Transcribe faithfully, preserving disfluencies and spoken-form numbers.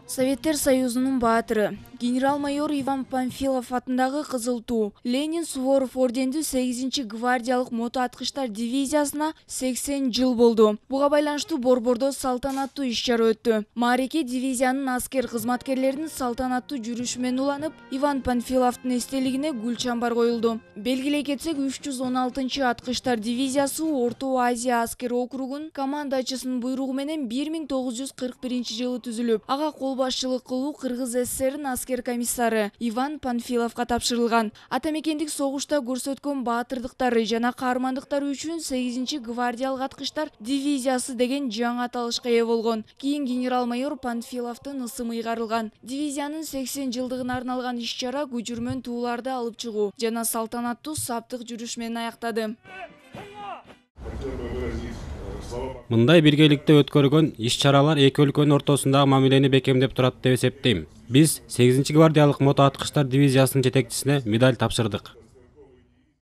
Советтер Союзунун баатыры генерал-майор Иван Панфилов атындагы Кызыл Туу Ленин Суворов ордендүү сегизинчи гвардиялык мото аткычтар дивизиясына сексен жыл болду. Буга байланыштуу Борбордо салтанаттуу иш-чара өттү. Маареке дивизиянын аскер кызматкерлеринин салтанаттуу жүрүшү менен уланып, Иван Панфиловдун эстелигине гүл чамбар коюлду. Белгилей кетсек, үч жүз он алтынчы аткычтар дивизиясы Орто Азия аскер округунун командачысынын буйругу менен бир миң тогуз жүз кырк биринчи жылы түзүлүп, ага кол башчылык кылуу Кыргыз ССРнин аскер комиссары Иван Панфиловго тапшырылган. Ата мекендик согушта көрсөткөн баатырдыктары жана каармандыктары үчүн сегизинчи гвардиялык аткычтар дивизиясы деген жаңы аталышка ээ болгон. Кийин генерал-майор Панфиловдун ысымы ыйгарылган. Дивизиянын сексен жылдыгына арналган иш-чара көчүрмөн тууларды алып чыгуу жана салтанаттуу саптык жүрүш менен аяктады. Мындай биргеликте өткөргөн иш-чаралар эки өлкөнүн ортосундагы мамилени бекемдеп турат деп эсептейм. Биз сегизинчи гвардиялык мото аткычтар дивизиясынын жетекчисине медаль тапшырдык.